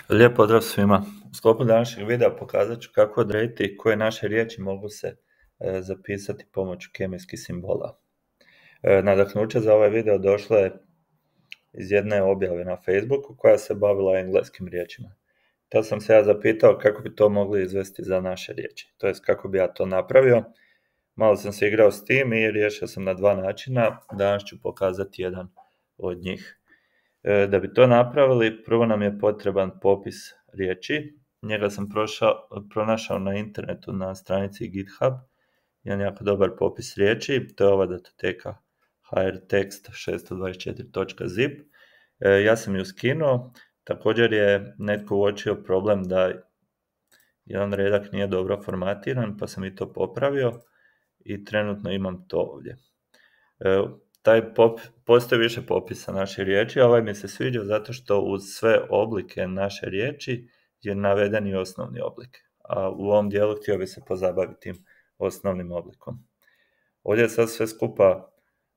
Lijep pozdrav svima. U sklopu današnjeg videa pokazat ću kako odrediti koje naše riječi mogu se zapisati pomoću kemijskih simbola. Nadahnuće za ovaj video došlo je iz jedne objave na Facebooku koja se bavila engleskim riječima. Tad sam se ja zapitao kako bi to mogli izvesti za naše riječi, to jest kako bi ja to napravio. Malo sam se igrao s tim i riješio sam na dva načina, danas ću pokazati jedan od njih. Da bi to napravili, prvo nam je potreban popis riječi. Njega sam pronašao na internetu na stranici GitHub, jedan jako dobar popis riječi, to je ova datoteka hrtext624.zip. Ja sam ju skinuo, također je netko uočio problem da jedan redak nije dobro formatiran, pa sam i to popravio i trenutno imam to ovdje. Postoji više popisa naše riječi, a ovaj mi se sviđa zato što uz sve oblike naše riječi je naveden i osnovni oblik. A u ovom dijelu htio bi se pozabaviti tim osnovnim oblikom. Ovdje je sad sve skupa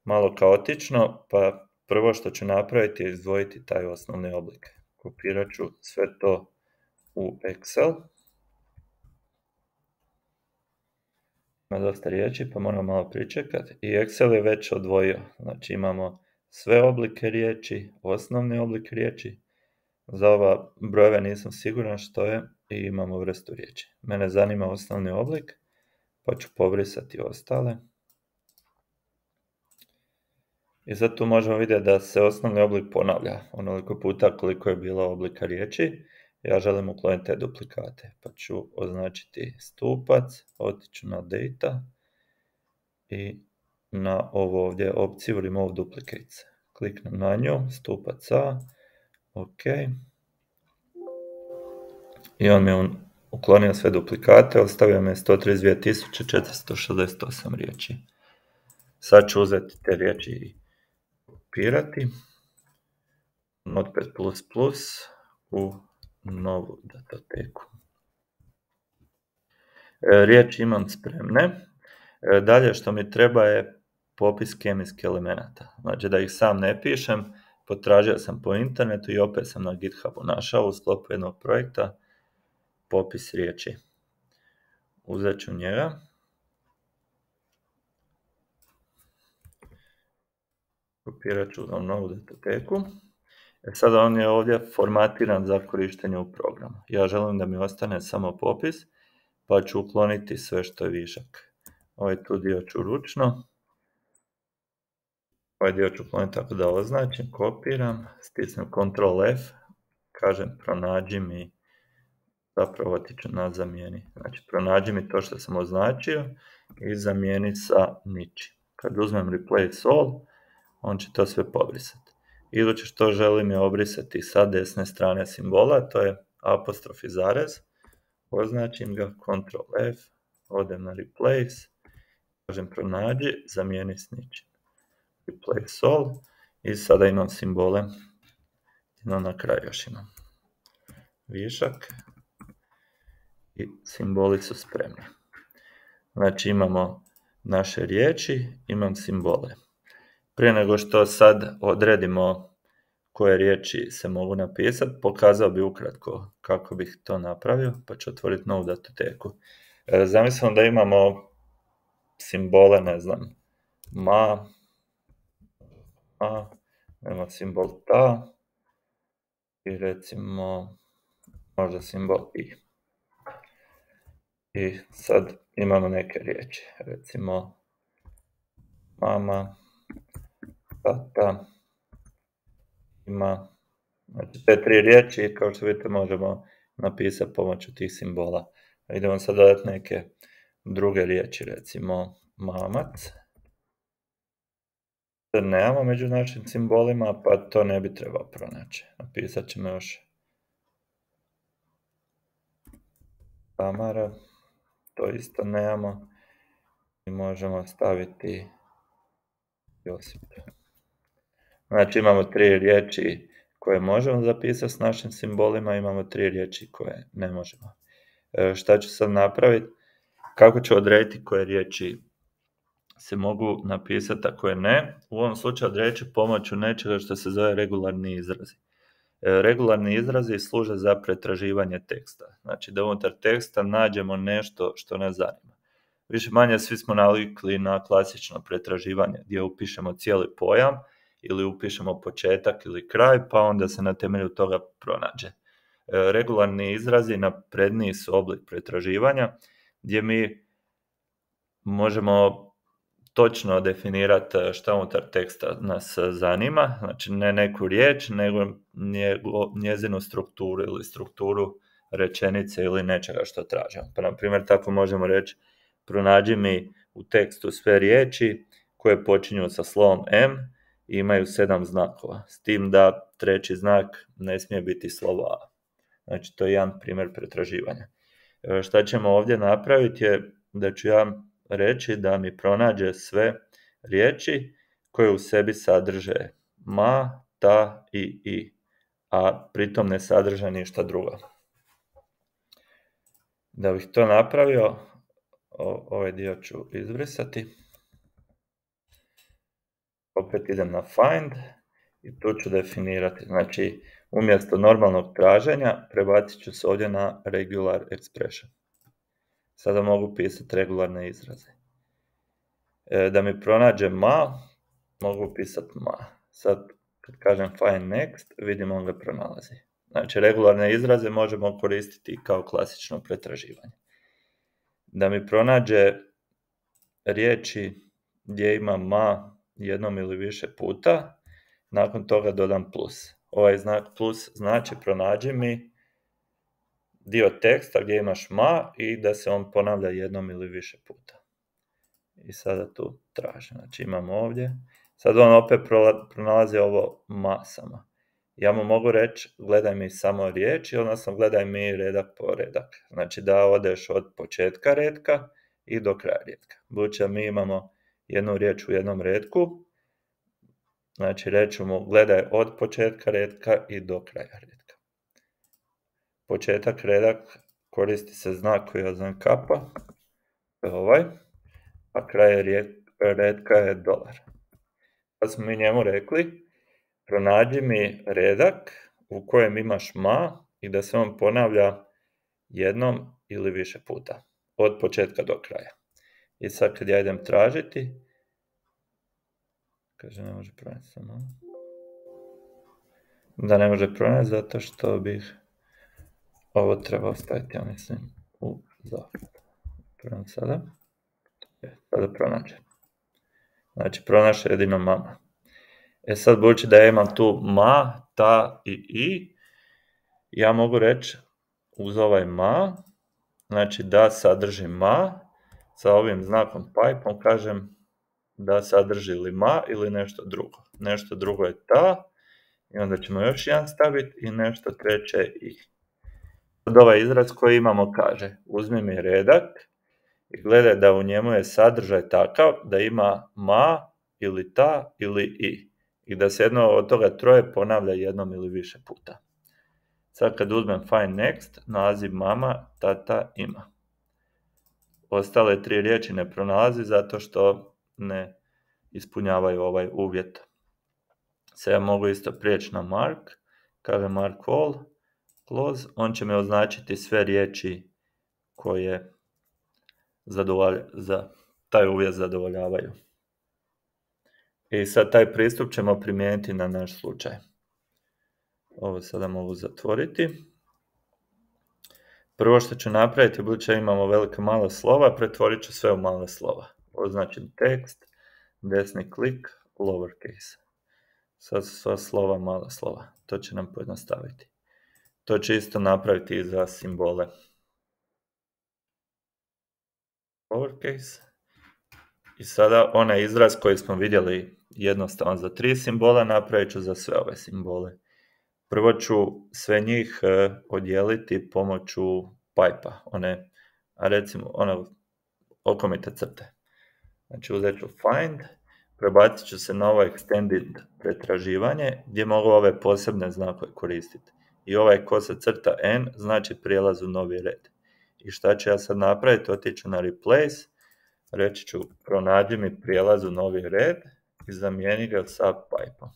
malo kaotično, pa prvo što ću napraviti je izdvojiti taj osnovni oblik. Kopirat ću sve to u Excel. Ima dosta riječi, pa moram malo pričekati. I Excel je već odvojio. Znači imamo sve oblike riječi, osnovni oblik riječi. Za ova brojeve nisam siguran što je i imamo vrstu riječi. Mene zanima osnovni oblik, pa ću pobrisati ostale. I sad tu možemo vidjeti da se osnovni oblik ponavlja onoliko puta koliko je bilo oblika riječi. Ja želim ukloniti te duplikate, pa ću označiti stupac, otiću na data i na ovo ovdje opciju remove duplicates. Kliknem na nju, stupac A, ok. I on mi je uklonio sve duplikate, ostavio mi je 132.468 riječi. Sad ću uzeti te riječi i kopirati. Notepad++ u novu datoteku. Riječi imam spremne. Dalje što mi treba je popis kemijskih elemenata. Znači da ih sam ne pišem, potražio sam po internetu i opet sam na GitHubu našao u sklopu jednog projekta popis riječi. Uzet ću njega. Kopirat ću u novu datoteku. Sada on je ovdje formatiran za korištenje u programu. Ja želim da mi ostane samo popis, pa ću ukloniti sve što je višak. Ovaj tu dio ću ručno. Ovaj dio ću ukloniti tako da označim, kopiram, stisnem Ctrl F, kažem pronađi mi, zapravo otiću na zamijeni. Znači pronađi mi to što sam označio i zamijeni sa ničim. Kad uzmem Replace All, on će to sve pobrisati. Iduće što želim je obrisati sa desne strane simbola, to je apostrof i zarez. Označim ga, Ctrl F, odem na Replace, kažem pronađi, zamijeni s ničim. Replace all i sada imam simbole. Na kraju još imam višak i simboli su spremni. Znači imamo naše riječi, imam simbole. Prije nego što sad odredimo koje riječi se mogu napisati, pokazao bi ukratko kako bih to napravio, pa ću otvoriti novu datoteku. Zamislimo da imamo simbole, ne znam, nema simbol ta i recimo možda simbol i. I sad imamo neke riječi, recimo mama, tata, ima. Znači te tri riječi, kao što vidite, možemo napisati pomoću tih simbola. Idemo sad dodati neke druge riječi, recimo mamac. Nemamo među našim simbolima, pa to ne bi trebao pronaći. Napisat ćemo još Tamara, to isto nemamo. I možemo staviti Josip. Znači imamo tri riječi koje možemo zapisati s našim simbolima, imamo tri riječi koje ne možemo. Šta ću sad napraviti? Kako ću odrediti koje riječi se mogu napisati, a koje ne? U ovom slučaju odredit ću pomoću nečega što se zove regularni izrazi. Regularni izrazi služe za pretraživanje teksta. Znači da unutar teksta nađemo nešto što nas zanima. Više manje svi smo navikli na klasično pretraživanje gdje upišemo cijeli pojam ili upišemo početak ili kraj, pa onda se na temelju toga pronađe. Regularni izrazi napredniji su oblik pretraživanja gdje mi možemo točno definirati šta unutar teksta nas zanima, znači ne neku riječ, nego njezinu strukturu ili strukturu rečenice ili nečega što tražimo. Pa na primjer tako možemo reći pronađi mi u tekstu sve riječi koje počinju sa slovom M i imaju 7 znakova, s tim da treći znak ne smije biti slovo A. Znači to je jedan primjer pretraživanja. Šta ćemo ovdje napraviti je da ću ja reći da mi pronađe sve riječi koje u sebi sadrže ma, ta i i, a pritom ne sadrže ništa drugo. Da bih to napravio, ovaj dio ću izbrisati. Opet idem na find i tu ću definirati. Znači, umjesto normalnog traženja prebacit ću se ovdje na regular expression. Sada mogu pisati regularne izraze. Da mi pronađe ma, mogu pisati ma. Sad, kad kažem find next, vidimo on ga pronalazi. Znači, regularne izraze možemo koristiti kao klasično pretraživanje. Da mi pronađe riječi gdje ima ma jednom ili više puta, nakon toga dodam plus. Ovaj znak plus znači pronađi mi dio teksta gdje imaš ma i da se on ponavlja jednom ili više puta. I sada tu tražim. Znači imam ovdje. Sad on opet pronalazi ovo ma samo. Ja mu mogu reći gledaj mi samo riječi, odnosno gledaj mi redak po redak. Znači da odeš od početka redka i do kraja redka. Budući da mi imamo jednu riječ u jednom redku, znači reću mu gledaj od početka redka i do kraja redka. Početak redak koristi se znak koji je znak kapa, to je ovaj, a kraj redka je dolar. Sad smo mi njemu rekli, pronađi mi redak u kojem imaš ma i da se on ponavlja jednom ili više puta, od početka do kraja. I sad kad ja idem tražiti, kaže ne može pronaći samo. Da ne može pronaći zato što bih ovo trebao staviti, ja mislim, u zagradu. Pronaći sada. Sada pronađe. Znači pronaše jedino mama. Sad budući da ja imam tu ma, ta i i, ja mogu reći uz ovaj ma, znači da sadrži ma, sa ovim znakom pipom kažem da sadrži ili ma ili nešto drugo. Nešto drugo je ta, i onda ćemo još jedan staviti i nešto treće i. Sad ovaj izraz koji imamo kaže, uzmi mi redak i gledaj da u njemu je sadržaj takav da ima ma ili ta ili i. I da se jedno od toga troje ponavlja jednom ili više puta. Sad kad uzmem find next, naziv mama, tata, ima. Ostale 3 riječi ne pronalazi zato što ne ispunjavaju ovaj uvjet. Sad ja mogu isto prijeći na mark, kaže mark all, close, on će me označiti sve riječi koje za taj uvjet zadovoljavaju. I sad taj pristup ćemo primijeniti na naš slučaj. Ovo sada mogu zatvoriti. Prvo što ću napraviti, budući da imamo velike male slova, pretvorit ću sve u male slova. Označim tekst, desni klik, lowercase. Sad su sva slova mala slova. To će nam pojednostaviti. To će isto napraviti i za simbole. Lowercase. I sada onaj izraz koji smo vidjeli jednostavan za 3 simbola, napravit ću za sve ove simbole. Prvo ću sve njih odijeliti pomoću pipe-a, recimo okomite crte. Znači uzet ću find, prebacit ću se na ovo extended pretraživanje gdje mogu ove posebne znakove koristiti. I ovaj kosa crta n znači prijelaz u novi red. I šta ću ja sad napraviti? Otiću na replace, reći ću pronađi mi prijelaz u novi red i zamijeni ga sa pipe-om.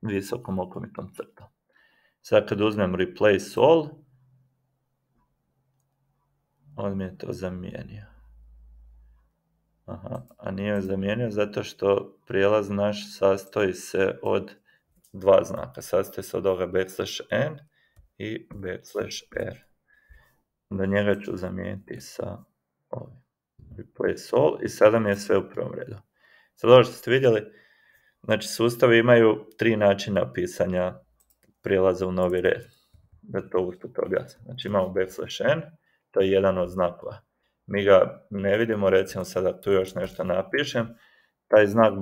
Visokom okomitom crtom. Sad kad uzmem replace all, on mi je to zamijenio. Aha, a nije zamijenio zato što prijelaz naš sastoji se od dva znaka. Sastoji se od ovoga \n i \r. Onda njega ću zamijeniti sa ovim. Replace all i sada mi je sve u prvom redu. Sad ovo što ste vidjeli, znači sustavi imaju 3 načina pisanja prijelaza u novi red. Da to usput objasnim. Znači imamo \n, to je jedan od znakova. Mi ga ne vidimo, recimo sada tu još nešto napišem, taj znak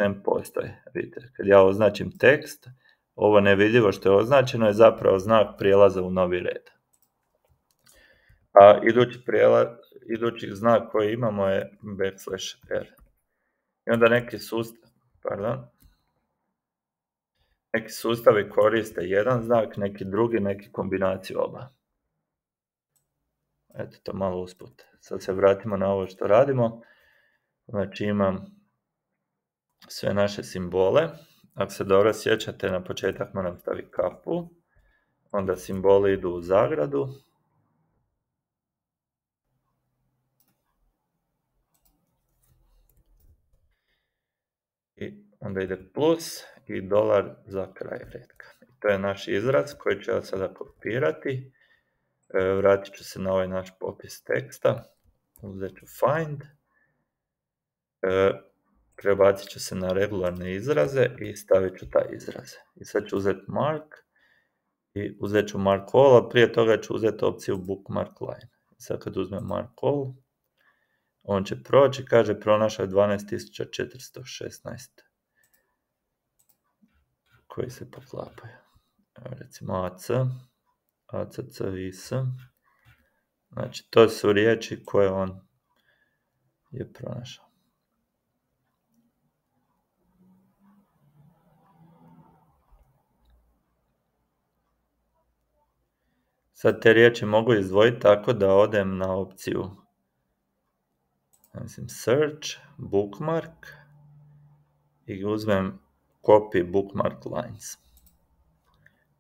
\n postoji. Vidite, kad ja označim tekst, ovo nevidljivo što je označeno je zapravo znak prijelaza u novi red. A idući znak koji imamo je \r. I onda neki sustavi koriste jedan znak, neki drugi, neki kombinaciju oba. Eto, to malo usput. Sad se vratimo na ovo što radimo. Znači imam sve naše simbole. Ako se dobro sjećate, na početak moram staviti kapu. Onda simboli idu u zagradu. I onda ide plus i dolar za kraj redka. To je naš izraz koji ću ja sada kopirati. Vratit ću se na ovaj naš popis teksta. Uzet ću find. Prebacit ću se na regularne izraze i stavit ću taj izraz. I sad ću uzeti mark i uzet ću mark all, a prije toga ću uzeti opciju bookmark line. I sad kad uzmem mark all, on će proći, kaže pronašao je 12.416 koji se poklapaju. Recimo AC, ACC, IS. Znači to su riječi koje on je pronašao. Sad te riječi mogu izdvojiti tako da odem na opciju search, bookmark i uzmem copy bookmark lines.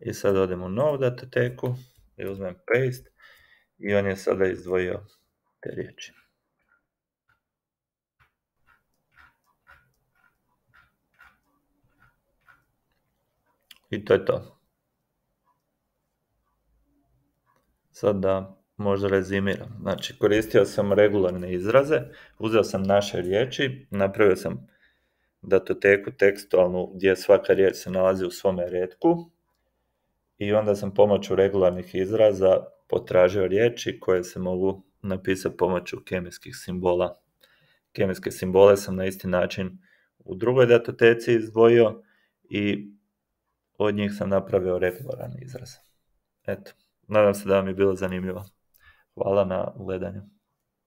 I sad odem u novu datoteku i uzmem paste i on je sada izdvojio te riječi. I to je to. Sad da možda rezimiram. Znači, koristio sam regularne izraze, uzeo sam naše riječi, napravio sam datoteku tekstualnu gdje svaka riječ se nalazi u svome retku i onda sam pomoću regularnih izraza potražio riječi koje se mogu napisati pomoću kemijskih simbola. Kemijske simbole sam na isti način u drugoj datoteci izdvojio i od njih sam napravio regularni izraz. Eto, nadam se da vam je bilo zanimljivo. Hvala na gledanju.